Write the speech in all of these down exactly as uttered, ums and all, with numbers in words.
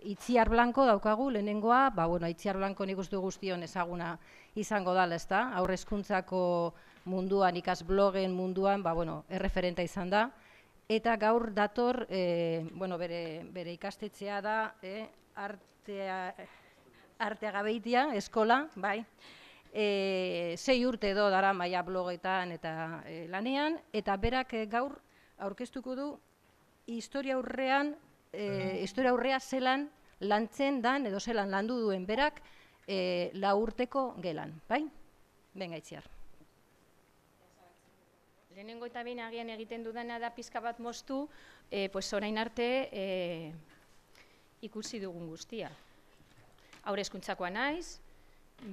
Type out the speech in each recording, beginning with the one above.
Itziar Blanko daukagu, lehenengoa, ba, bueno, Itziar Blanko nik uste guztion ezaguna izango dala, ez da? Haur hezkuntzako munduan, ikas blogen munduan, ba, bueno, erreferenta izan da. Eta gaur dator, e, bueno, bere, bere ikastetxea da, e, artea, arteagabeitia, eskola, bai. E, sei urte edo dara maia blogetan eta e, lanean, eta berak e, gaur aurkeztuko du historia aurrean, e, historia aurrea zelan lantzen dan, edo zelan landu duen berak, e, lau urteko gelan, bai? Benga, Itziar. Lehenengo eta behin agian egiten dudana da pizka bat moztu, e, pues orain arte e, ikusi dugun guztia. Haur hezkuntzakoa naiz,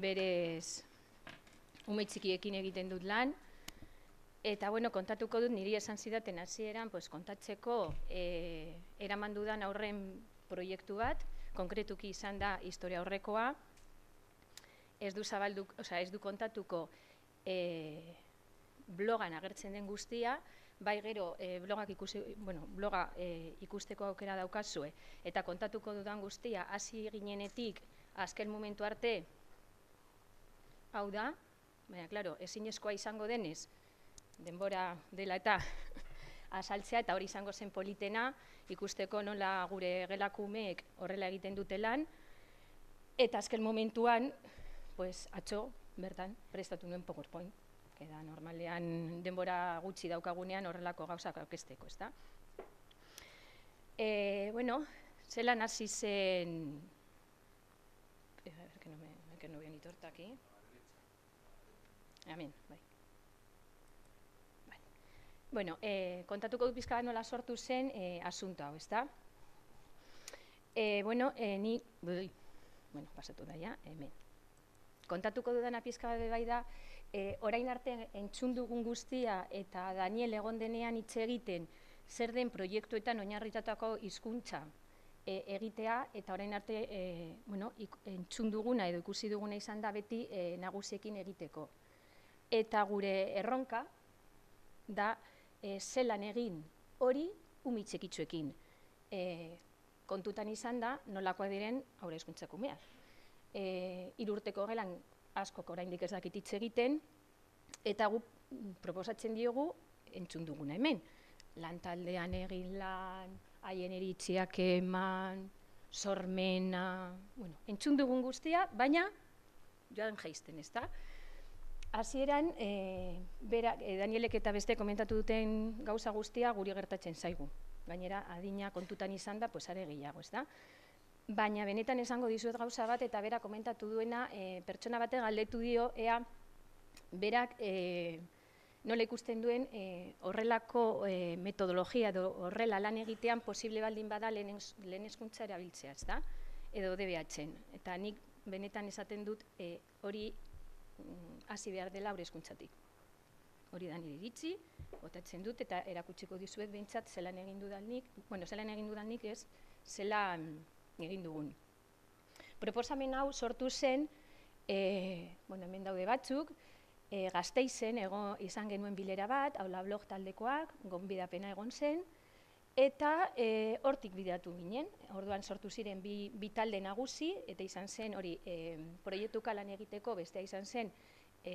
berez ume txikiekin egiten dut lan, eta bueno, kontatuko dut niri esan zidaten hasieran, pues kontatzeko e, eraman dudan aurren proiektu bat, konkretuki izan da historia aurrekoa, ez du zabaldu, osea, ez du kontatuko e, blogan agertzen den guztia, bai gero e, blogak ikusi, bueno, bloga e, ikusteko aukera daukazue, eta kontatuko dudan guztia hasi ginenetik azken momentu arte, hau da, baina, klaro, ezinezkoa izango denez, denbora dela eta azaltzea, eta hori izango zen politena, ikusteko nola gure gelakumeek horrela egiten dute lan, eta azken momentuan, pues, atzo, bertan, prestatu nuen PowerPoint, que da normalean denbora gutxi daukagunean horrelako gauzak aurkezteko, ezta? E, bueno, zelan hasi zen... A ver, que no me, que no veo ni torta aquí. Amen, bai. Bueno, eh, kontatuko dut pizka bat nola sortu zen eh, asunto hau, ezta? Eh, bueno, eh, ni... Ui, bueno, pasatu da ja, hemen. Kontatuko dudana pizka bat bai da, eh, orain arte entzun dugun guztia eta Daniel egon denean hitz egiten zer den proiektuetan oinarritatutako hizkuntza eh, egitea, eta orain arte eh, bueno, entzun duguna edo ikusi duguna izan da beti eh, nagusiekin egiteko. Eta gure erronka da e, zelan egin hori umi txikitsuekin. E, kontutan izan da nolakoak diren haur hezkuntzako umeak. E, hiru urteko gelan askok oraindik ez dakit hitz egiten, eta gu proposatzen diogu entzun duguna hemen. Lantaldean egin lan, haien iritziak eman, sormena, bueno, entzun dugun guztia, baina joan jaisten, ez da? Hasieran, e, berak, e, Danielek eta beste komentatu duten gauza guztia guri gertatzen zaigu. Gainera, adina kontutan izan da, pues are gehiago, ez da? Baina benetan esango dizuet gauza bat, eta berak komentatu duena, e, pertsona bate galdetu dio, ea, berak e, nola ikusten duen e, horrelako e, metodologia edo horrela lan egitean posible baldin bada lehen hezkuntza erabiltzea, ez da? Edo D B H-en. Eta nik benetan esaten dut e, hori hasi behar dela haur hezkuntzatik. Hori da nire iritzi, botatzen dut, eta erakutsiko dizuet behintzat zelan egin dudanik, bueno, zelan egin dudanik ez, zelan egin dugun. Proposamen hau sortu zen, e, bueno, hemen daude batzuk, e, Gasteizen ego izan genuen bilera bat, Aula Blog taldekoak, gonbidapena egon zen, eta e, hortik bideratu ginen. Orduan sortu ziren bi, bi talde nagusi, eta izan zen hori e, proiektuka lan egiteko, bestea izan zen e,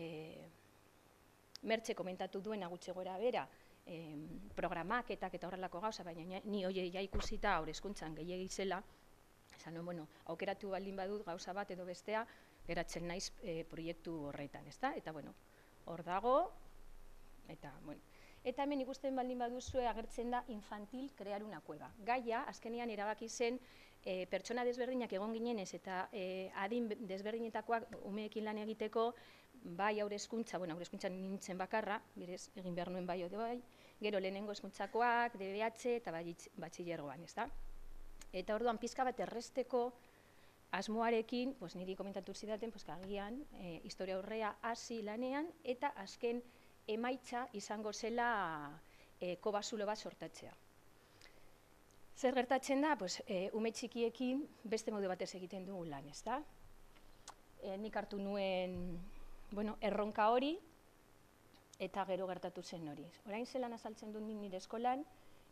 Mertxe komentatu duen gutxi gora bera e, programaketak eta horrelako gauza, baina ni hori ja ikusita haur hezkuntzan gehiegi zela, esan nuen, bueno, aukeratu baldin badut gauza bat edo bestea, geratzen naiz e, proiektu horretan, ezta? Eta bueno, hor dago, eta bueno, eta hemen ikusten baldin baduzue agertzen da infantil crear una cueva. Gaia, azkenean erabaki zen, e, pertsona desberdinak egon ginenez eta e, adin desberdinetakoak umeekin lan egiteko, bai haur hezkuntza, bueno, haur hezkuntzan nintzen bakarra, berez egin behar nuen bai ode bai, gero lehenengo hezkuntzakoak, D B H eta batxilergoan, ez da? Eta orduan pizka bat erresteko asmoarekin, pues, niri komentatu zidaten, pues, agian, e, historia aurrea hasi lanean, eta azken emaitza izango zela e, kobazulo bat sortatzea. Zer gertatzen da, pues, e, ume txikiekin beste modu batez egiten dugu lan, ez da? E, nik hartu nuen, bueno, erronka hori, eta gero gertatu zen hori. Orain zelan azaltzen dut nire eskolan,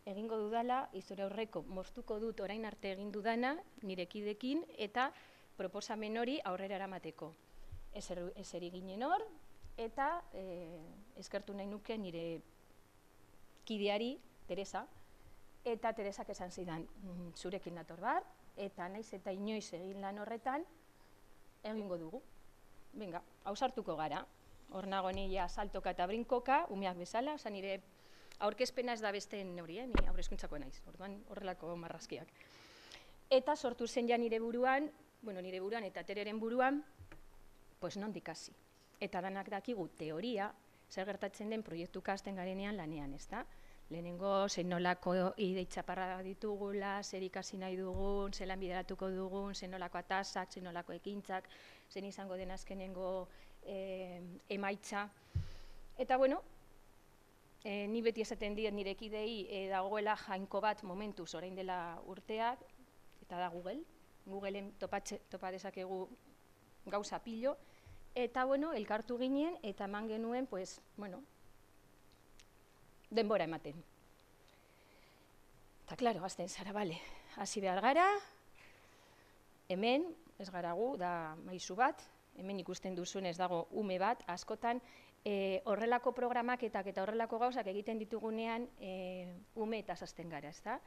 egingo dudala, historia aurreko moztuko dut orain arte egin dudana, nire kidekin, eta proposamen hori aurrera eramateko. Eseri ginen hor, eta eskertu nahi nuke nire kideari, Teresa, eta Teresak esan zidan, zurekin nator bar, eta naiz eta inoiz egin lan horretan, egingo dugu. Venga, ausartuko gara. Hor nago nila saltoka eta brinkoka, umeak bezala, oza nire aurkezpena ez da besteen hori, ni aurrezkuntzako naiz, orduan horrelako marrazkiak. Eta sortu zen ja nire buruan, bueno, nire buruan eta Tereren buruan, pues nondik hasi. Eta danak dakigu teoria, zer gertatzen den proiektuka hasten garenean lanean, ezta? Lehenengo, zein nolako ide itxaparra ditugula, zer ikasi nahi dugun, zelan bideratuko dugun, zein nolako atasak, zein nolako ekintzak, zein izango den azkenengo emaitza. Eta, bueno, ni beti esaten diet nire kidei dagoela jainko bat momentuz orain dela urteak, eta da Google. Googleen topa dezakegu gauza pilo. Eta, bueno, elkartu ginen, eta eman genuen, pues, bueno, denbora ematen. Eta, klaro, azten zara, bale, hasi behar gara, hemen, ez gara gu, da maizu bat, hemen ikusten duzun ez dago ume bat, askotan, horrelako programaketak eta horrelako gauzak egiten ditugunean, ume eta azten gara, ez da?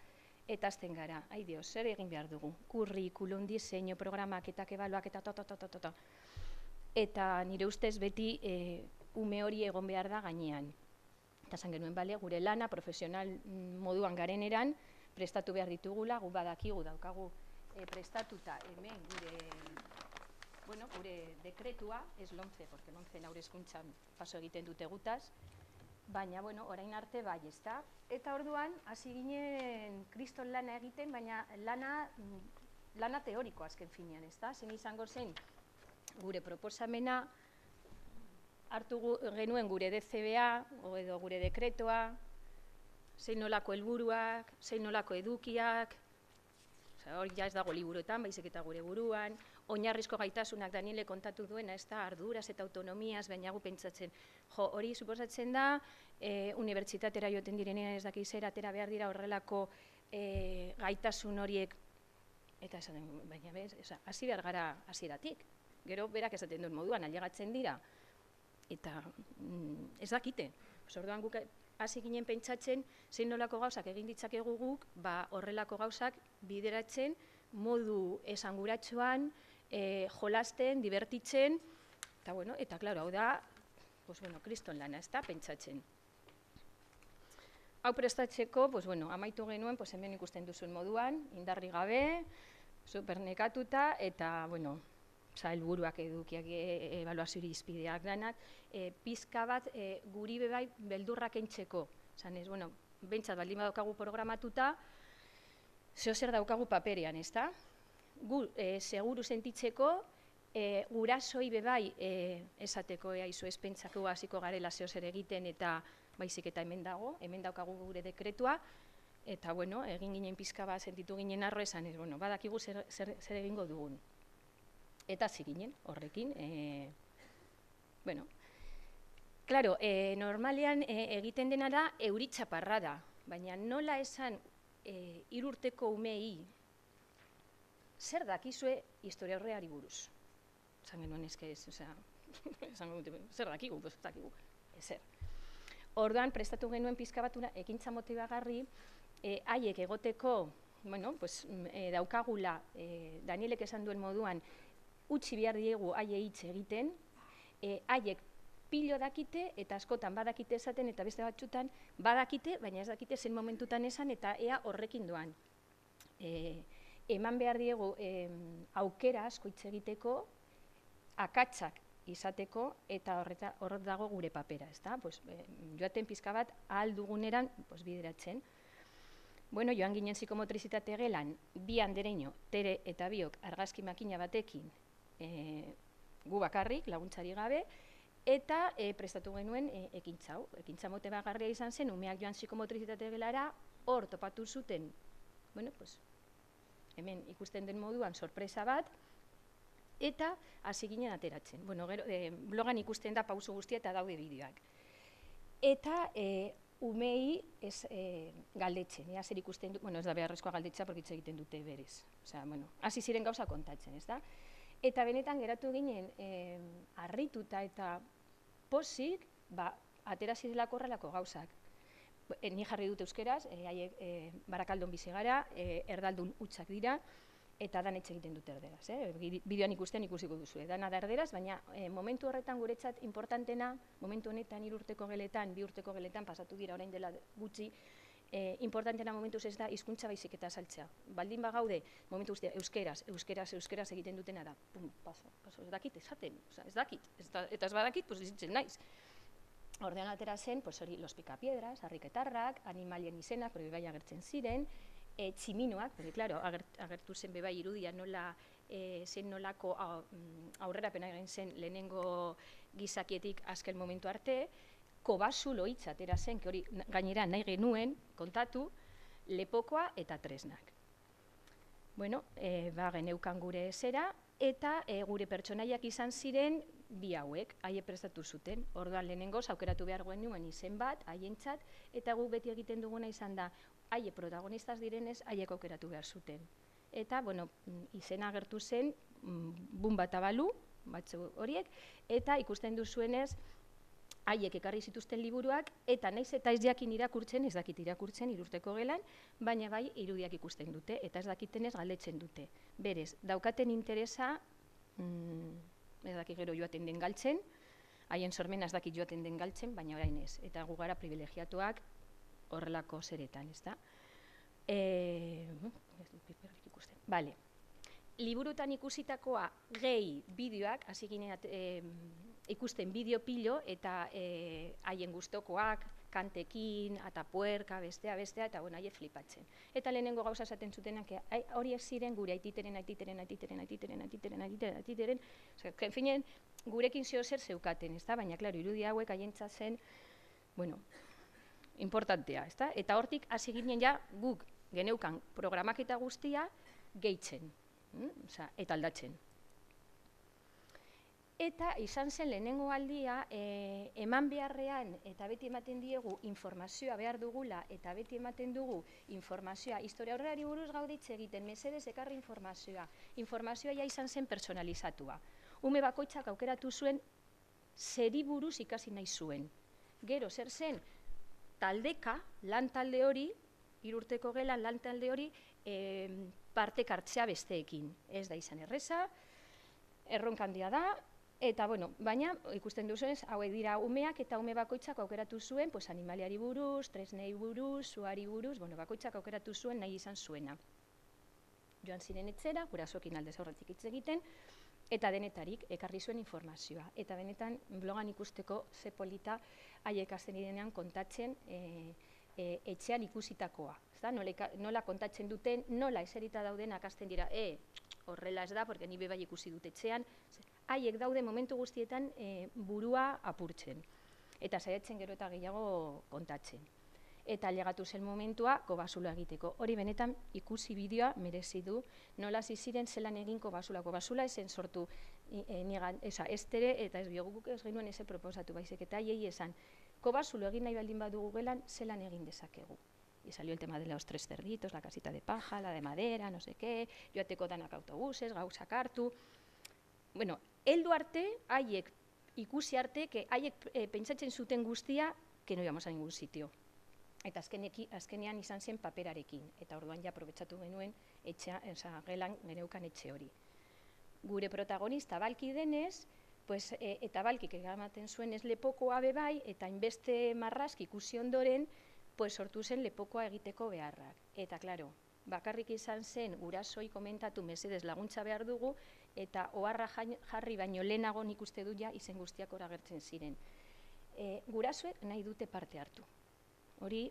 Eta azten gara, ai dio, zer egin behar dugu? Kurrikulum, diseño, programaketak, ebaluak, eta to, to, to, to, to. Eta nire ustez beti ume hori egon behar da gainean. Eta zan genuen, bale, gure lana profesional moduan gareneran, prestatu behar ditugula, gu badakigu daukagu prestatuta hemen gure, bueno, gure dekretua, ez lomce, porque lomce naure eskuntzan paso egiten dute gutaz, baina, bueno, orain arte bai, ez da? Eta orduan, hasi ginen kriston lana egiten, baina lana, lana teoriko azken finean, ez da? Zen izango zen, gure proposamena, hartu genuen gure D C B A, edo gure dekretoa, zein nolako helburuak, zein nolako edukiak, hori ja ez dago liburuetan, baizik eta gure buruan, oinarrizko gaitasunak Daniele kontatu duena, ez da, arduraz eta autonomiaz, baina gu pentsatzen, jo, hori suposatzen da, unibertsitatera joten direnean ez dakiz atera behar dira horrelako gaitasun horiek, eta esaten, baina bez, hasi behar gara hasieratik. Gero, berak esaten duen moduan, ailegatzen dira, eta ez dakite. Orduan guk hasi ginen pentsatzen, zein nolako gauzak egin ditzakegu guk, ba horrelako gauzak bideratzen, modu esanguratsuan, jolasten, divertitzen, eta bueno, eta klaro, hau da, pues bueno, kriston lana, ez da, pentsatzen. Hau prestatzeko, pues bueno, amaitu genuen, pues hemen ikusten duzuen moduan, indarri gabe, supernekatuta, eta bueno, helburuak edukiak, ebaluazio irizpideak danak, pizka bat guri bebai beldurrak entzeko. Zanez, bueno, bentsat baldin badaukagu programatuta, zeo zer daukagu paperean, ez da? Gu, seguru sentitzeko, gurasoi bebai esateko eaizu espentsako hasiko garela zeo zer egiten eta baizik eta hemen dago, hemen daukagu gure dekretua, eta, bueno, egin ginen pizka bat sentitu ginen arro esan, ez, bueno, badakigu zer egingo dugun. Eta hasi ginen horrekin, bueno, klaro, normalean egiten dena da euritxaparra da, baina nola esan hirurteko umei zer dakizue historia horreari buruz. Esan genuen ezke ez, osea, zer dakigu, ez dakigu, ezer. Orduan, prestatu genuen pizka batuna, ekintza motibagarri, haiek egoteko, bueno, pues, daukagula, Danielek esan duen moduan, utzi behar diegu haie hitz egiten, haiek pilo dakite eta askotan badakite esaten eta beste batzutan badakite, baina ez dakite zen momentutan esan eta ea horrekin doan. Eman behar diegu aukera asko hitz egiteko, akatsak izateko eta hor dago gure papera, ezta? Joaten pizka bat ahal duguneran bideratzen. Bueno, joan ginen psikomotrizitate gelan, bi andereño, Tere eta biok argazki makina batekin gu bakarrik, laguntzari gabe, eta prestatu genuen ekintza hau. Ekintza motibagarria izan zen, umeak joan psikomotrizitate gelara, hor topatu zuten, bueno, pues, hemen ikusten den moduan sorpresa bat, eta hasi ginen ateratzen. Bueno, blogan ikusten da pauso guztia eta daude bideoak. Eta umei ez galdetzen, ea zer ikusten du, bueno, ez da beharrezkoa galdetza, porque hitz egiten dute berez. Osea, bueno, hasi ziren gauza kontatzen, ez da? Eta benetan geratu ginen harrituta eta pozik, ba, atera zirelako horrelako gauzak. Ni jarri dut euskeraz, haiek Barakaldon bizi gara, erdaldun hutsak dira, eta dan etxe egiten dut erderaz. Bideoan ikusten ikusiko duzu, dana da erderaz, baina momentu horretan guretzat importantena, momentu honetan hiru urteko geletan, bi urteko geletan, pasatu dira orain dela gutxi, importantena momentuz ez da hizkuntza baizik eta saltzea. Baldin bagaude, momentu guztia, euskeraz, euskeraz, euskeraz egiten dutena da, pum, paso, paso, ez dakit, esaten, ez dakit, eta ez badakit, pues izitzen naiz. Ordean atera zen, pues hori, los picapiedras, harriketarrak, animalien izenak, hori bai agertzen ziren, tximinoak, porque, claro, agertu zen bebai irudia nola, zen nolako aurrerapena egin zen lehenengo gizakietik azken momentu arte, kobasulo hitz atera zen, que hori gainera nahi genuen kontatu, lepokoa eta tresnak. Bueno, ba, geneukan gure zera, eta gure pertsonaiak izan ziren bi hauek, haie prestatu zuten. Orduan lehenengoz, aukeratu behar genuen izen bat, haientzat, eta guk beti egiten duguna izan da, haie protagonistaz direnez, haiek aukeratu behar zuten. Eta, bueno, izena agertu zen, bun bat abalu, batzu horiek, eta ikusten duzuenez, haiek ekarri zituzten liburuak, eta naiz eta ez jakin irakurtzen, ez dakit irakurtzen irurteko gelan, baina bai irudiak ikusten dute, eta ez dakitenez galdetzen dute. Berez, daukaten interesa, ez dakit gero joaten den galtzen, haien sormena ez dakit joaten den galtzen, baina orain ez, eta gu gara privilegiatuak horrelako zeretan, ez da? Bale, liburutan ikusitakoa gehi bideoak, hasi ginen ikusten bideo pilo, eta haien gustokoak, kantekin, atapuerka, bestea, bestea, eta bueno, haie flipatzen. Eta lehenengo gauza esaten zutenak, horiek ziren gure aititeren, aititeren, aititeren, aititeren, aititeren, aititeren, aititeren, en finen, gurekin zeo zer zeukaten, ez da? Baina, klaro, irudi hauek haientzat zen, bueno, importantea, ez da? Eta hortik hasi ginen ja guk geneukan programaketa guztia gehitzen, eta aldatzen. Eta izan zen lehenengo aldia, eman beharrean eta beti ematen diegu informazioa behar dugula eta beti ematen dugu informazioa, historia horreari buruz gauditze egiten, mesedez ekarri informazioa. Informazioa ja izan zen personalizatua. Ume bakoitzak aukeratu zuen zeri buruz ikasi nahi zuen. Gero, zer zen, taldeka, lan talde hori, hirurteko gelan lan talde hori, partek hartzea besteekin. Ez da izan erreza, erronkandia da, eta, bueno, baina, ikusten duzuenez, hauek dira umeak eta ume bakoitzak aukeratu zuen, pues, animaliari buruz, tresnei buruz, zuari buruz, bueno, bakoitzak aukeratu zuen nahi izan zuena. Joan ziren etzera, gurasoekin aldez aurretik hitz egiten, eta denetarik ekarri zuen informazioa. Eta benetan, blogan ikusteko ze polita haiek hasten direnean kontatzen etxean ikusitakoa. Nola kontatzen duten, nola eserita daudenak hasten dira, e, horrela ez da, porque ni bebai ikusi dut etxean, haiek daude momentu guztietan burua apurtzen. Eta saiatzen gero eta gehiago kontatzen. Eta ailegatu zen momentua kobasula egiteko. Hori benetan ikusi bideoa merezi du, nola ziren zelan egin kobasula. Kobasula esen sortu estere eta ez bioguk ez genuen eze proposatu baizik. Eta haiei esan, kobasulu egin nahi baldin badugu gelan, zelan egin dezakegu. Y salió el tema de los tres cerditos, la casita de paja, la de madera, no sé qué, joateko danak autobuses, gauzak hartu. Bueno, heldu arte, haiek ikusi arte, haiek pentsatzen zuten guztia, que no íbamos a ningún sitio. Eta azkenean izan zen paperarekin, eta orduan ja aprobetsatu genuen gelan geneukan etxe hori. Gure protagonista balki denez, eta balkik egamaten zuen ez lepokoa bebai, eta inbeste marrazki ikusi ondoren, sortu zen lepokoa egiteko beharrak. Eta, klaro, bakarrik izan zen gurasoi komentatu mesedez laguntza behar dugu, eta oharra jarri baino lehenago nik uste dut ja izen guztiak hor agertzen ziren. Gurasoek nahi dute parte hartu. Hori,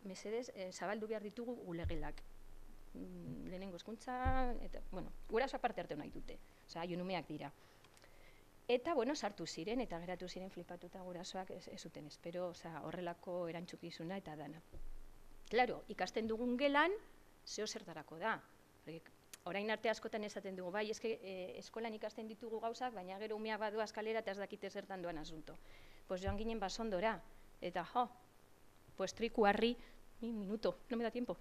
mesedez, zabaldu behar ditugu gulegelak. Lehenengo hezkuntza, bueno, gurasoak parte hartu nahi dute. Osa, haionumeak dira. Eta, bueno, sartu ziren, eta geratu ziren flipatuta gurasoak ez zuten espero, horrelako erantzukizuna eta dana. Claro, ikasten dugun gelan, zeo zertarako da. Orain arte askotan esaten dugu, bai, eske eskolan ikasten ditugu gauzak, baina gero umeak badua eskalera eta ez dakite zertan doan asunto. Pues joan ginen basondora, eta jo, pues trikuarri, mi minuto, no me da tiempo,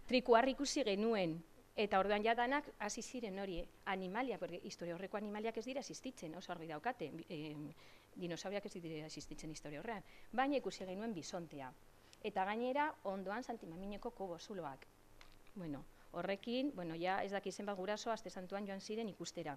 trikuarri ikusi genuen, eta orduan jadanak hasi ziren hori animaliak, porque historia horreko animaliak ez dira existitzen, oso argi daukate, e, dinosauriak ez dira existitzen historia horrean, baina ikusi genuen bisontea. Eta gainera, ondoan Santimamineko kobo zuloak. Bueno, horrekin, bueno, ja ez daki zenbat guraso, aste santuan joan ziren ikustera.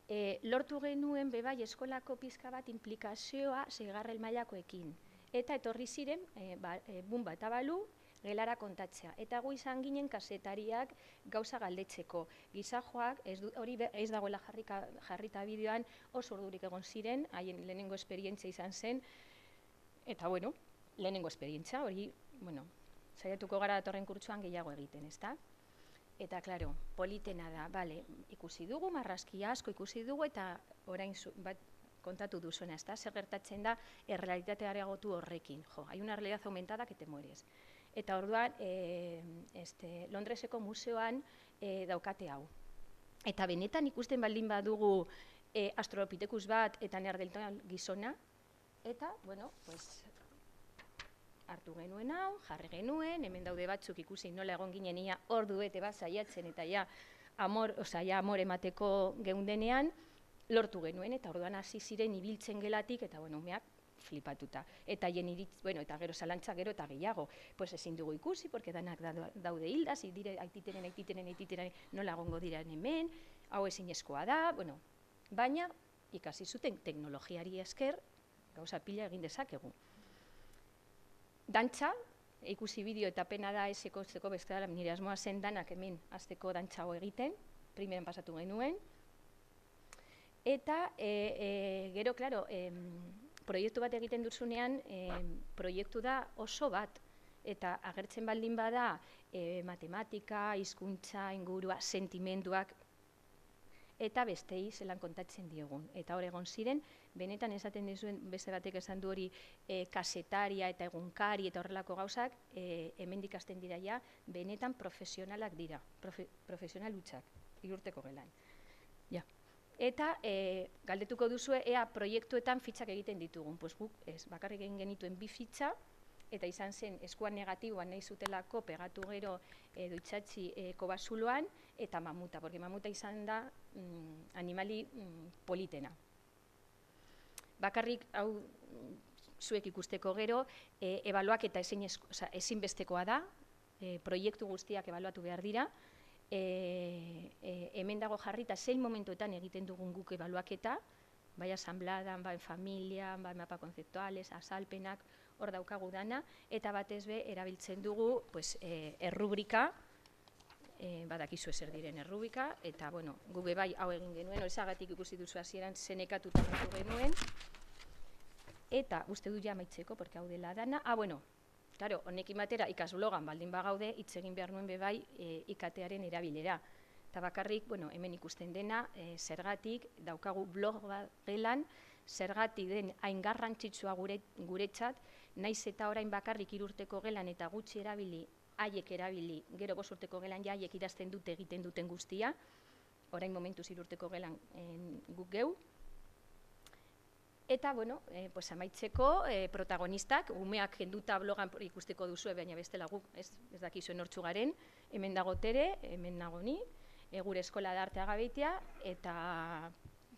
E, lortu genuen bebai eskolako pizka bat implikazioa seigarren mailakoekin. Eta etorri ziren, e, ba, e, bumba eta balu, gelara kontatzea. Eta gu izan ginen kasetariak gauza galdetzeko. Gizajoak, ez du, hori ez dagoela jarrika, jarrita bideoan, oso ordurik egon ziren, haien lehenengo esperientzia izan zen, eta bueno, lehenengo esperientzia, hori, bueno, saiatuko gara datorren kurtsuan gehiago egiten, ezta? Eta, klaro, politena da, bale, ikusi dugu, marrazki asko ikusi dugu, eta orain zu, bat, kontatu duzuena, ezta? Zer gertatzen da, errealitatea areagotu horrekin. Jo, hai una realidad aumentada que te mueres. Eta orduan, e, este, Londreseko museoan e, daukate hau. Eta benetan ikusten baldin badugu e, Australopithecus bat eta Neandertal gizona, eta, bueno, pues, hartu genuen hau, jarri genuen, hemen daude batzuk ikusi nola egon ginen ia ordu bete bat saiatzen eta ja amor, osea, ja amor emateko geundenean, lortu genuen, eta orduan hasi ziren ibiltzen gelatik, eta bueno, umeak flipatuta. Eta jen iritz, bueno, eta gero zalantza gero eta gehiago, pues ezin dugu ikusi, porque danak daude hildas, dire aititeren, aititeren, aititeren, nola egongo dira hemen, hau ezinezkoa da, bueno, baina ikasi zuten teknologiari esker, gauza pila egin dezakegu. Dantza, ikusi bideo eta pena da eseko zeko bestela, nire asmoa zen danak hemen azteko dantzago egiten, primeran pasatu genuen. Eta e, e, gero, klaro, e, proiektu bat egiten duzunean, e, proiektu da oso bat, eta agertzen baldin bada e, matematika, hizkuntza, ingurua, sentimenduak, eta bestei zelan kontatzen diogun. Eta hor egon ziren, benetan esaten dizuen beste batek esan du hori e, kasetaria eta egunkari eta horrelako gauzak, e, hemen dikasten dira ja, benetan profesionalak dira, profe, profesional hutsak, irurteko gelan. Ja. Eta e, galdetuko duzue, ea proiektuetan fitxak egiten ditugun. Pues guk ez, bakarrik egin genituen bi fitxa, eta izan zen eskuan negatiboan nahi zutelako pegatu gero e, duitsatzi e, kobazuloan, eta mamuta, porque mamuta izan da mm, animali mm, politena. Bakarrik, hau zuek ikusteko gero, e, ebaluak eta ezin esko, oza, ezinbestekoa da, e, proiektu guztiak ebaluatu behar dira, e, e, hemen dago jarrita zein momentuetan egiten dugun guk ebaluaketa, bai asambladan, bai familian, bai mapa konzeptuales, azalpenak, hor daukagu dana, eta batez be erabiltzen dugu pues, e, errubrika, e, badakizu ezer diren errubrika, eta bueno, gube bai hau egin genuen, horrezagatik ikusi duzu hasieran zenekatuta genuen, eta uste du ja amaitzeko, porque hau dela dana, ah, bueno, claro, honekin batera ikasblogan baldin bagaude, hitz egin behar nuen bebai e, I K T-aren erabilera. Eta bakarrik, bueno, hemen ikusten dena, e, zergatik, daukagu blog bat gelan, zergatik den hain garrantzitsua gure, guretzat, naiz eta orain bakarrik irurteko gelan eta gutxi erabili, haiek erabili, gero bost urteko gelan ja haiek idazten dute egiten duten guztia, orain momentuz irurteko gelan en, guk geu. Eta, bueno, eh, pues amaitzeko eh, protagonistak, umeak kenduta blogan ikusteko duzu, baina bestela guk, ez, ez dakizuen hortzu garen, hemen dago Tere, hemen nago ni, e, gure eskola da artea gabeitea, eta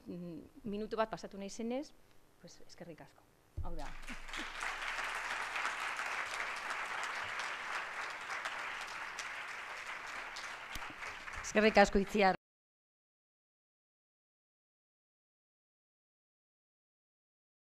mm, minutu bat pasatu nahi zenez, pues, eskerrik asko. Hau da. Eskerrik asko Itziar.